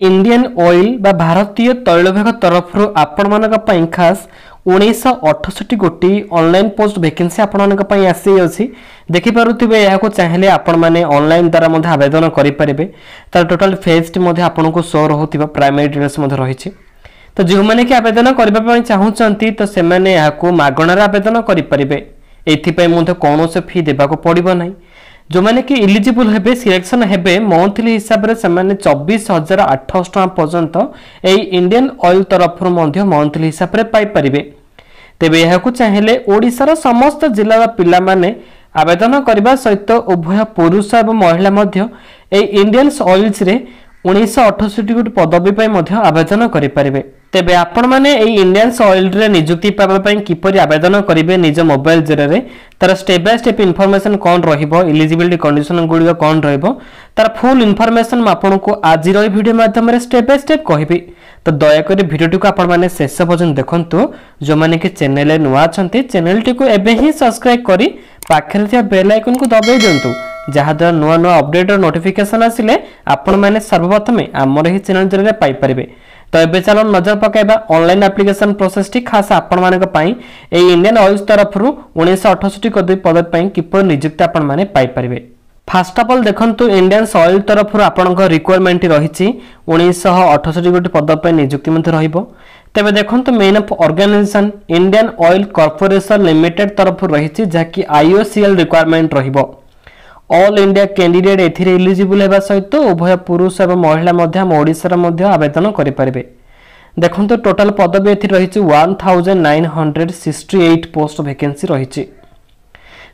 Indian oil ବା ଭାରତୀୟ ତୈଳ ବିଭାଗ ତରଫରୁ ଆପଣମାନଙ୍କ ପାଇଁ ଖାସ୍ 1968 ଗୋଟି ଅନଲାଇନ୍ ପୋଷ୍ଟ ଭେକେନ୍ସି ଆପଣମାନଙ୍କ ପାଇଁ ଆସିଅଛି। ଦେଖିପାରୁଥିବେ, ଏହାକୁ ଚାହିଁଲେ ଆପଣମାନେ ଅନଲାଇନ୍ ଦ୍ୱାରା ମଧ୍ୟ ଆବେଦନ କରିପାରିବେ। ତାର ଟୋଟାଲ ଫେଜ୍ଟି ମଧ୍ୟ ଆପଣଙ୍କୁ ଶୋ ରହୁଥିବା ପ୍ରାଇମେରୀ ଡିଟେଲ୍ସ ମଧ୍ୟ ରହିଛି। ତ ଯେଉଁମାନେ କି ଆବେଦନ କରିବା ପାଇଁ ଚାହୁଁଛନ୍ତି, ତ ସେମାନେ ଏହାକୁ ମାଗଣାରେ ଆବେଦନ କରିପାରିବେ। ଏଥିପାଇଁ ମଧ୍ୟ କୌଣସି ଫି ଦେବାକୁ ପଡ଼ିବ ନାହିଁ। ଯେଉଁମାନେ କି ଇଲିଜିବୁଲ୍ ହେବେ, ସିଲେକ୍ସନ୍ ହେବେ, ମନ୍ଥଲି ହିସାବରେ ସେମାନେ 24,800 ଟଙ୍କା ପର୍ଯ୍ୟନ୍ତ ଏଇ ଇଣ୍ଡିଆନ୍ ଅଏଲ୍ ତରଫରୁ ମଧ୍ୟ ମନ୍ଥଲି ହିସାବରେ ପାଇପାରିବେ। ତେବେ ଏହାକୁ ଚାହିଁଲେ ଓଡ଼ିଶାର ସମସ୍ତ ଜିଲ୍ଲାର ପିଲାମାନେ ଆବେଦନ କରିବା ସହିତ ଉଭୟ ପୁରୁଷ ଏବଂ ମହିଳା ମଧ୍ୟ ଏଇ ଇଣ୍ଡିଆନ୍ ଅଏଲ୍ସରେ 1968 ଗୋଟି ପଦବୀ ପାଇଁ ମଧ୍ୟ ଆବେଦନ କରିପାରିବେ। ତେବେ ଆପଣମାନେ ଏଇ ଇଣ୍ଡିଆନ୍ସ ଅଏଲ୍ରେ ନିଯୁକ୍ତି ପାଇବା ପାଇଁ କିପରି ଆବେଦନ କରିବେ ନିଜ ମୋବାଇଲ ଜରିଆରେ, ତାର ଷ୍ଟେପ୍ ବାଇ ଷ୍ଟେପ୍ ଇନଫର୍ମେସନ୍ କ'ଣ ରହିବ, ଇଲିଜିବିଲିଟି କଣ୍ଡିସନ ଗୁଡ଼ିକ କ'ଣ ରହିବ, ତାର ଫୁଲ୍ ଇନଫର୍ମେସନ୍ ମୁଁ ଆପଣଙ୍କୁ ଆଜିର ଏହି ଭିଡ଼ିଓ ମାଧ୍ୟମରେ ଷ୍ଟେପ୍ ବାଇ ଷ୍ଟେପ୍ କହିବି। ତ ଦୟାକରି ଭିଡ଼ିଓଟିକୁ ଆପଣମାନେ ଶେଷ ପର୍ଯ୍ୟନ୍ତ ଦେଖନ୍ତୁ। ଯେଉଁମାନେ କି ଚ୍ୟାନେଲରେ ନୂଆ ଅଛନ୍ତି, ଚ୍ୟାନେଲଟିକୁ ଏବେ ହିଁ ସବସ୍କ୍ରାଇବ୍ କରି ପାଖରେ ଥିବା ବେଲ୍ ଆଇକନ୍କୁ ଦବାଇ ଦିଅନ୍ତୁ, ଯାହାଦ୍ୱାରା ନୂଆ ନୂଆ ଅପଡେଟ୍ର ନୋଟିଫିକେସନ୍ ଆସିଲେ ଆପଣମାନେ ସର୍ବପ୍ରଥମେ ଆମର ଏହି ଚ୍ୟାନେଲ ଜରିଆରେ ପାଇପାରିବେ। ତ ଏବେ ଚାଲ ନଜର ପକାଇବା ଅନଲାଇନ୍ ଆପ୍ଲିକେସନ୍ ପ୍ରୋସେସଟି, ଖାସ୍ ଆପଣମାନଙ୍କ ପାଇଁ ଏଇ ଇଣ୍ଡିଆନ୍ ଅଏଲ୍ସ ତରଫରୁ 1968 ପଦବୀ ପାଇଁ କିପରି ନିଯୁକ୍ତି ଆପଣମାନେ ପାଇପାରିବେ। ଫାଷ୍ଟ ଅଫ୍ ଅଲ୍ ଦେଖନ୍ତୁ, ଇଣ୍ଡିଆନ୍ସ ଅଏଲ୍ ତରଫରୁ ଆପଣଙ୍କ ରିକ୍ୱାରମେଣ୍ଟ ରହିଛି 1968 ଗୋଟି ପଦ ପାଇଁ ନିଯୁକ୍ତି ମଧ୍ୟ ରହିବ। ତେବେ ଦେଖନ୍ତୁ, main of organisation Indian oil corporation limited ତରଫରୁ ରହିଛି, ଯାହାକି ଆଇଓସିଏଲ୍ ରିକ୍ୱାରମେଣ୍ଟ ରହିବ। ଅଲ୍ ଇଣ୍ଡିଆ କ୍ୟାଣ୍ଡିଡେଟ୍ ଏଥିରେ ଇଲିଜିବୁଲ୍ ହେବା ସହିତ ଉଭୟ ପୁରୁଷ ଏବଂ ମହିଳା ମଧ୍ୟ ଆମ ଓଡ଼ିଶାର ମଧ୍ୟ ଆବେଦନ କରିପାରିବେ। ଦେଖନ୍ତୁ, ଟୋଟାଲ ପଦବୀ ଏଥିରେ ରହିଛି 1968 ପୋଷ୍ଟ ଭେକେନ୍ସି ରହିଛି।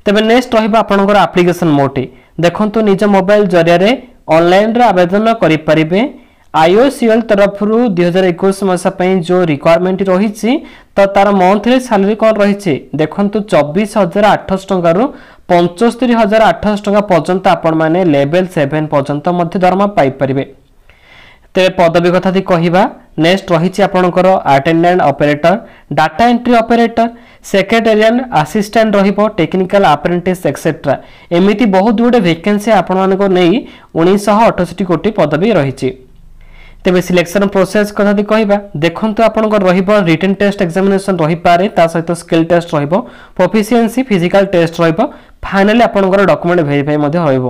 ତେବେ ନେକ୍ସଟ ରହିବ ଆପଣଙ୍କର ଆପ୍ଲିକେସନ୍ ମୋଡଟି। ଦେଖନ୍ତୁ, ନିଜ ମୋବାଇଲ ଜରିଆରେ ଅନଲାଇନରେ ଆବେଦନ କରିପାରିବେ। ଆଇଓସିଏଲ୍ ତରଫରୁ 2021 ମସିହା ପାଇଁ ଯେଉଁ ରିକ୍ୱାରମେଣ୍ଟ ରହିଛି, ତ ତାର ମନ୍ଥଲି ସାଲାରୀ କ'ଣ ରହିଛି ଦେଖନ୍ତୁ, 24,800 ଟଙ୍କାରୁ 75,800 ଟଙ୍କା ପର୍ଯ୍ୟନ୍ତ ଆପଣମାନେ ଲେଭେଲ୍ 7 ପର୍ଯ୍ୟନ୍ତ ମଧ୍ୟ ଦରମା ପାଇପାରିବେ। ତେବେ ପଦବୀ କଥା ଯଦି କହିବା, ନେକ୍ସଟ ରହିଛି ଆପଣଙ୍କର attendant operator, data entry operator, secretarial assistant ରହିବ, ଟେକ୍ନିକାଲ ଆପ୍ରେଣ୍ଟିସ୍ ଏକ୍ସେଟ୍ରା। ଏମିତି ବହୁତ ଗୁଡ଼ିଏ ଭେକେନ୍ସି ଆପଣମାନଙ୍କୁ ନେଇ 1968 ଗୋଟି ପଦବୀ ରହିଛି। ତେବେ ସିଲେକ୍ସନ୍ ପ୍ରୋସେସ୍ କଥା ଯଦି କହିବା, ଦେଖନ୍ତୁ, ଆପଣଙ୍କର ରହିବ ରିଟେନ୍ ଟେଷ୍ଟ ଏକ୍ଜାମିନେସନ୍ ରହିପାରେ, ତା ସହିତ ସ୍କିଲ୍ ଟେଷ୍ଟ ରହିବ, ପ୍ରୋଫିସିଏନ୍ସି ଫିଜିକାଲ ଟେଷ୍ଟ ରହିବ, ଫାଇନାଲି ଆପଣଙ୍କର ଡକୁମେଣ୍ଟ ଭେରିଫାଇ ମଧ୍ୟ ରହିବ।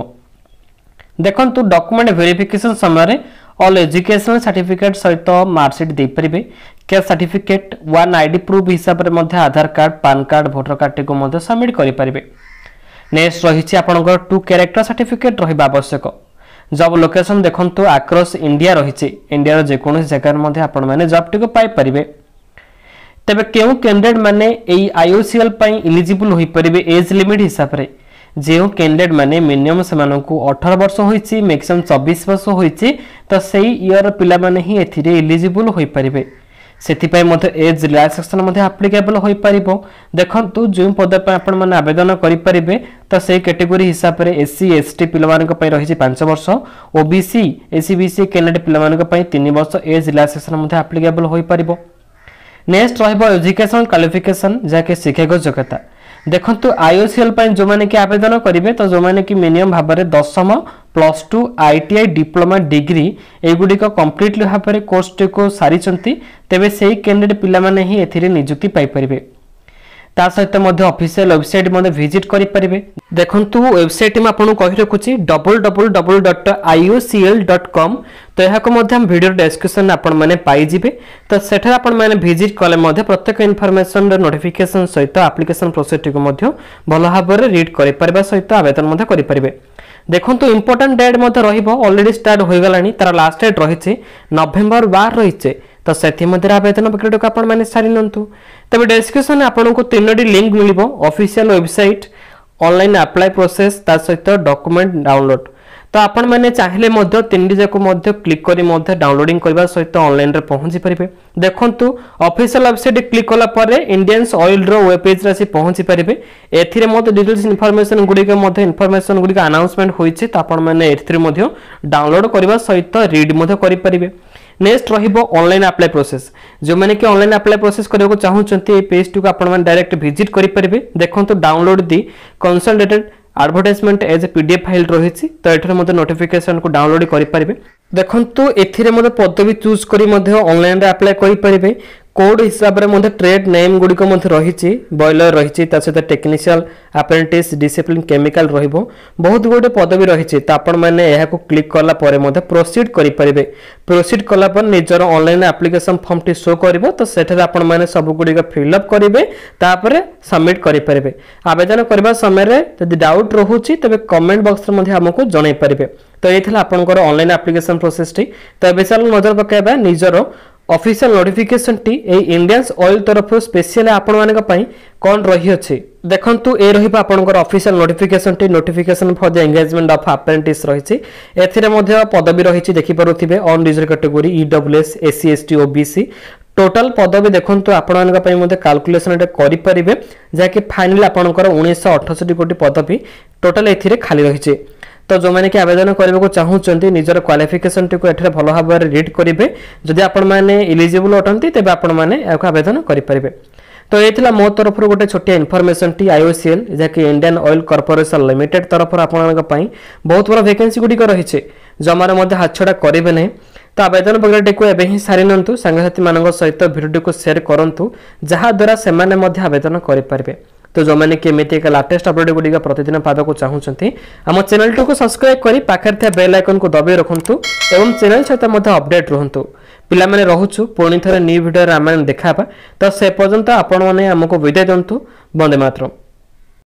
ଦେଖନ୍ତୁ, ଡକୁମେଣ୍ଟ ଭେରିଫିକେସନ୍ ସମୟରେ ଅଲ୍ ଏଜୁକେସନାଲ ସାର୍ଟିଫିକେଟ୍ ସହିତ ମାର୍କସିଟ୍ ଦେଇପାରିବେ। Caste certificate, one ID proof ହିସାବରେ ମଧ୍ୟ ଆଧାର କାର୍ଡ଼, ପାନ୍ କାର୍ଡ଼, ଭୋଟର କାର୍ଡ଼ଟିକୁ ମଧ୍ୟ ସବମିଟ୍ କରିପାରିବେ। ନେକ୍ସଟ ରହିଛି ଆପଣଙ୍କର ଟୁ କ୍ୟାରେକ୍ଟର ସାର୍ଟିଫିକେଟ୍ ରହିବା ଆବଶ୍ୟକ। ଜବ୍ ଲୋକେସନ୍ ଦେଖନ୍ତୁ, ଆକ୍ରସ୍ ଇଣ୍ଡିଆ ରହିଛି। ଇଣ୍ଡିଆର ଯେକୌଣସି ଜାଗାରେ ମଧ୍ୟ ଆପଣମାନେ ଜବ୍ଟିକୁ ପାଇପାରିବେ। ତେବେ କେଉଁ କ୍ୟାଣ୍ଡିଡେଟ୍ ମାନେ ଏଇ ଆଇଓସିଏଲ୍ ପାଇଁ ଇଲିଜିବୁଲ୍ ହୋଇପାରିବେ ଏଜ୍ ଲିମିଟ୍ ହିସାବରେ? ଯେଉଁ କ୍ୟାଣ୍ଡିଡେଟ୍ ମାନେ ମିନିମମ୍ ସେମାନଙ୍କୁ 18 ବର୍ଷ ହୋଇଛି, ମ୍ୟାକ୍ସିମମ୍ 24 ବର୍ଷ ହୋଇଛି, ତ ସେଇ ଇୟର ପିଲାମାନେ ହିଁ ଏଥିରେ ଇଲିଜିବୁଲ୍ ହୋଇପାରିବେ। ସେଥିପାଇଁ ମଧ୍ୟ ଏଜ୍ ରିଲାକ୍ସେସନ୍ ମଧ୍ୟ ଆପ୍ଲିକେବଲ୍ ହୋଇପାରିବ। ଦେଖନ୍ତୁ, ଯେଉଁ ପଦ ପାଇଁ ଆପଣମାନେ ଆବେଦନ କରିପାରିବେ, ତ ସେଇ କ୍ୟାଟେଗୋରୀ ହିସାବରେ ଏସ୍ ସି ଏସ୍ ଟି ପିଲାମାନଙ୍କ ପାଇଁ ରହିଛି 5 ବର୍ଷ, ଓ B C S C B C candidate ପିଲାମାନଙ୍କ ପାଇଁ 3 ବର୍ଷ ଏଜ୍ ରିଲାକ୍ସେସନ୍ ମଧ୍ୟ ଆପ୍ଲିକେବଲ୍ ହୋଇପାରିବ। ନେକ୍ସଟ ରହିବ ଏଜୁକେସନାଲ କ୍ୱାଲିଫିକେସନ୍, ଯାହାକି ଶିକ୍ଷାଗତ ଯୋଗ୍ୟତା। ଦେଖନ୍ତୁ, ଆଇଓସିଏଲ୍ ପାଇଁ ଯେଉଁମାନେ କି ଆବେଦନ କରିବେ, ତ ଯେଉଁମାନେ କି ମିନିମମ୍ ଭାବରେ ଦଶମ, ପ୍ଲସ୍ 2, ଆଇଟିଆଇ, ଡିପ୍ଲୋମା, ଡିଗ୍ରୀ ଏଗୁଡ଼ିକ କମ୍ପ୍ଲିଟଲି ଭାବରେ କୋର୍ସଟିକୁ ସାରିଛନ୍ତି, ତେବେ ସେଇ କ୍ୟାଣ୍ଡିଡେଟ୍ ପିଲାମାନେ ହିଁ ଏଥିରେ ନିଯୁକ୍ତି ପାଇପାରିବେ। ତା ସହିତ ମଧ୍ୟ ଅଫିସିଆଲ ୱେବସାଇଟ୍ ମଧ୍ୟ ଭିଜିଟ୍ କରିପାରିବେ। ଦେଖନ୍ତୁ, ୱେବସାଇଟ୍ ମୁଁ ଆପଣଙ୍କୁ କହି ରଖୁଛି www.iocl.com। ତ ଏହାକୁ ମଧ୍ୟ ଆମ ଭିଡ଼ିଓ ଡେସ୍କ୍ରିପସନରେ ଆପଣମାନେ ପାଇଯିବେ। ତ ସେଠାରେ ଆପଣମାନେ ଭିଜିଟ୍ କଲେ ମଧ୍ୟ ପ୍ରତ୍ୟେକ ଇନଫର୍ମେସନର ନୋଟିଫିକେସନ୍ ସହିତ ଆପ୍ଲିକେସନ୍ ପ୍ରୋସେସଟିକୁ ମଧ୍ୟ ଭଲ ଭାବରେ ରିଡ୍ କରିପାରିବା ସହିତ ଆବେଦନ ମଧ୍ୟ କରିପାରିବେ। ଦେଖନ୍ତୁ, ଇମ୍ପୋର୍ଟାଣ୍ଟ ଡେଟ୍ ମଧ୍ୟ ରହିବ। ଅଲରେଡ଼ି ଷ୍ଟାର୍ଟ ହୋଇଗଲାଣି, ତାର ଲାଷ୍ଟ ଡେଟ୍ ରହିଛି ନଭେମ୍ବର 12 ରହିଛି। ତ ସେଥିମଧ୍ୟରେ ଆବେଦନ ପ୍ରକ୍ରିୟାଟିକୁ ଆପଣମାନେ ସାରି ନିଅନ୍ତୁ। ତେବେ ଡେସ୍କ୍ରିପସନରେ ଆପଣଙ୍କୁ ତିନୋଟି ଲିଙ୍କ ମିଳିବ, official website, online apply process, ତା ସହିତ ଡକୁମେଣ୍ଟ ଡାଉନଲୋଡ୍। ତ ଆପଣମାନେ ଚାହିଁଲେ ମଧ୍ୟ ତିନିଟି ଯାକ ମଧ୍ୟ କ୍ଲିକ୍ କରି ମଧ୍ୟ ଡାଉନଲୋଡିଂ କରିବା ସହିତ ଅନଲାଇନରେ ପହଞ୍ଚି ପାରିବେ। ଦେଖନ୍ତୁ, ଅଫିସିଆଲ ୱେବସାଇଟ୍ କ୍ଲିକ୍ କଲା ପରେ ଇଣ୍ଡିଆନ୍ସ ଅଏଲ୍ର ୱେବ୍ ପେଜ୍ରେ ଆସି ପହଞ୍ଚି ପାରିବେ। ଏଥିରେ ମଧ୍ୟ ଡିଟେଲ୍ସ ଇନଫର୍ମେସନ୍ ଗୁଡ଼ିକ ମଧ୍ୟ ଇନଫର୍ମେସନ୍ ଗୁଡ଼ିକ ଆନାଉନ୍ସମେଣ୍ଟ ହୋଇଛି। ତ ଆପଣମାନେ ଏଥିରେ ମଧ୍ୟ ଡାଉନଲୋଡ୍ କରିବା ସହିତ ରିଡ୍ ମଧ୍ୟ କରିପାରିବେ। ନେକ୍ସଟ ରହିବ ଅନଲାଇନ୍ ଆପ୍ଲାଏ ପ୍ରୋସେସ୍। ଯେଉଁମାନେ କି ଅନଲାଇନ୍ ଆପ୍ଲାଏ ପ୍ରୋସେସ୍ କରିବାକୁ ଚାହୁଁଛନ୍ତି, ଏହି ପେଜ୍ଟିକୁ ଆପଣମାନେ ଡାଇରେକ୍ଟ ଭିଜିଟ୍ କରିପାରିବେ। ଦେଖନ୍ତୁ, download the consolidated advertisement as a PDF file ରହିଛି। ତ ଏଠାରେ ମଧ୍ୟ ନୋଟିଫିକେସନକୁ ଡାଉନଲୋଡ୍ କରିପାରିବେ। ଦେଖନ୍ତୁ, ଏଥିରେ ମଧ୍ୟ ପଦବୀ ଚୁଜ୍ କରି ମଧ୍ୟ ଅନଲାଇନରେ ଆପ୍ଲାଏ କରିପାରିବେ। କୋଡ୍ ହିସାବରେ ମଧ୍ୟ ଟ୍ରେଡ୍ ନେମ୍ ଗୁଡ଼ିକ ମଧ୍ୟ ରହିଛି। ବଏଲର ରହିଛି, ତା ସହିତ ଟେକ୍ନିସିଆଲ ଆପ୍ରେଣ୍ଟିସ୍ ଡିସିପ୍ଲିନ୍ କେମିକାଲ ରହିବ, ବହୁତ ଗୁଡ଼ିଏ ପଦବୀ ରହିଛି। ତ ଆପଣମାନେ ଏହାକୁ କ୍ଲିକ୍ କଲା ପରେ ମଧ୍ୟ ପ୍ରୋସିଡ୍ କରିପାରିବେ। ପ୍ରୋସିଡ୍ କଲା ପରେ ନିଜର ଅନଲାଇନ୍ ଆପ୍ଲିକେସନ୍ ଫର୍ମଟି ଶୋ କରିବ। ତ ସେଠାରେ ଆପଣମାନେ ସବୁଗୁଡ଼ିକ ଫିଲ୍ଅପ୍ କରିବେ, ତାପରେ ସବମିଟ୍ କରିପାରିବେ। ଆବେଦନ କରିବା ସମୟରେ ଯଦି ଡାଉଟ୍ ରହୁଛି, ତେବେ କମେଣ୍ଟ ବକ୍ସରେ ମଧ୍ୟ ଆମକୁ ଜଣାଇ ପାରିବେ। ତ ଏଇ ଥିଲା ଆପଣଙ୍କର ଅନଲାଇନ୍ ଆପ୍ଲିକେସନ୍ ପ୍ରୋସେସଟି। ତ ଏବେ ଚାଲୁ ନଜର ପକାଇବା ନିଜର ଅଫିସିଆଲ ନୋଟିଫିକେସନଟି, ଏଇ ଇଣ୍ଡିଆନ୍ସ ଅଏଲ ତରଫରୁ ସ୍ପେଶିଆଲି ଆପଣମାନଙ୍କ ପାଇଁ କ'ଣ ରହିଅଛି। ଦେଖନ୍ତୁ, ଏ ରହିବ ଆପଣଙ୍କର official ନୋଟିଫିକେସନଟି। Notification for the engagement of apprentice ରହିଛି। ଏଥିରେ ମଧ୍ୟ ପଦବୀ ରହିଛି, ଦେଖିପାରୁଥିବେ, unreserved category, EWS, SC, ST, OBC. Total ପଦବୀ ଦେଖନ୍ତୁ, ଆପଣମାନଙ୍କ ପାଇଁ ମଧ୍ୟ କାଲକୁଲେସନ ଏଟା କରିପାରିବେ, ଯାହାକି ଫାଇନାଲି ଆପଣଙ୍କର 1968 ଗୋଟି ପଦବୀ ଟୋଟାଲ ଏଥିରେ ଖାଲି ରହିଛି। ତ ଯେଉଁମାନେ କି ଆବେଦନ କରିବାକୁ ଚାହୁଁଛନ୍ତି, ନିଜର କ୍ୱାଲିଫିକେସନଟିକୁ ଏଠାରେ ଭଲ ଭାବରେ ରିଡ୍ କରିବେ। ଯଦି ଆପଣମାନେ ଇଲିଜିବଲ୍ ଅଟନ୍ତି, ତେବେ ଆପଣମାନେ ଏହାକୁ ଆବେଦନ କରିପାରିବେ। ତ ଏ ଥିଲା ମୋ ତରଫରୁ ଗୋଟେ ଛୋଟିଆ ଇନଫର୍ମେସନଟି। ଆଇଓସିଏଲ୍, ଯାହାକି ଇଣ୍ଡିଆନ୍ ଅଏଲ୍ କର୍ପୋରେସନ ଲିମିଟେଡ୍ ତରଫରୁ ଆପଣଙ୍କ ପାଇଁ ବହୁତ ବଡ଼ ଭେକେନ୍ସି ଗୁଡ଼ିକ ରହିଛି। ଜମାରେ ମଧ୍ୟ ହାତଛଡ଼ା କରିବେ ନାହିଁ। ତ ଆବେଦନ ପ୍ରକ୍ରିୟାଟିକୁ ଏବେ ହିଁ ସାରି ନିଅନ୍ତୁ। ସାଙ୍ଗସାଥିମାନଙ୍କ ସହିତ ଭିଡ଼ିଓଟିକୁ ସେୟାର କରନ୍ତୁ, ଯାହାଦ୍ୱାରା ସେମାନେ ମଧ୍ୟ ଆବେଦନ କରିପାରିବେ। ତ ଯେଉଁମାନେ କି ଏମିତି ଏକ ଲାଟେଷ୍ଟ ଅପଡେଟ୍ ଗୁଡ଼ିକ ପ୍ରତିଦିନ ପାଇବାକୁ ଚାହୁଁଛନ୍ତି, ଆମ ଚ୍ୟାନେଲଟିକୁ ସବସ୍କ୍ରାଇବ୍ କରି ପାଖରେ ଥିବା ବେଲ୍ ଆଇକନ୍କୁ ଦବାଇ ରଖନ୍ତୁ ଏବଂ ଚ୍ୟାନେଲ ସହିତ ମଧ୍ୟ ଅପଡେଟ୍ ରୁହନ୍ତୁ। ପିଲାମାନେ, ରହୁଛୁ। ପୁଣି ଥରେ ନ୍ୟୁ ଭିଡ଼ିଓରେ ଆମେ ଦେଖା ହେବା। ତ ସେ ପର୍ଯ୍ୟନ୍ତ ଆପଣମାନେ ଆମକୁ ବିଦାୟ ଦିଅନ୍ତୁ। ବନ୍ଦେ ମାତରମ୍।